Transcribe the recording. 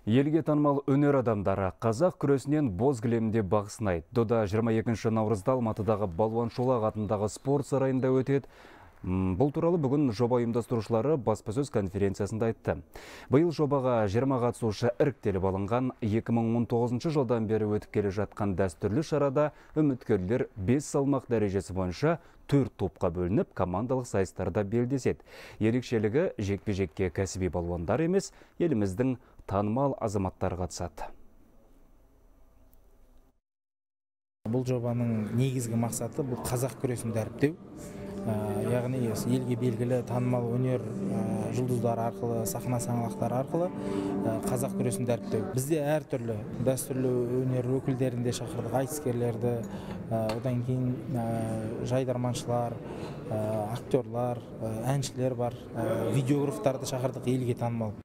Елге танымал өнер адамдары қазақ күресінен боз кілемде бақ сынайды. Дода 22 наурызда Алматыдағы Балуан Шолақ атындағы спорт сарайында өтеді. Бұл туралы бүгін жоба ұйымдастырушылары баспасөз конференциясында айтты. Биыл жобаға 20 қатысушы іріктеліп алынған. 2019 жылдан бері өтіп келе жатқан дәстүрлі шарада үміткерлер 5 салмақ дәрежесі бойынша 4 топқа бөлініп, командалық сайыстарда белдеседі. Ерекшелігі жекпе-жекке кәсіби балуандар емес, еліміздің танымал азаматтар қатысады. Бұл жобаның негізгі мақсаты бұл қазақ күресін дәріптеу. Яғни елге белгілі танымал өнер жұлдыздары арқылы, сахна саңлақтары арқылы қазақ күресін дәріптеу. Бізде әртүрлі дәстүрлі өнер өкілдерін де шақырдық, айтыскерлерді, одан кейін жайдарманшылар, актерлар, әншілер бар, видеографтарды шақырдық, елге танымал.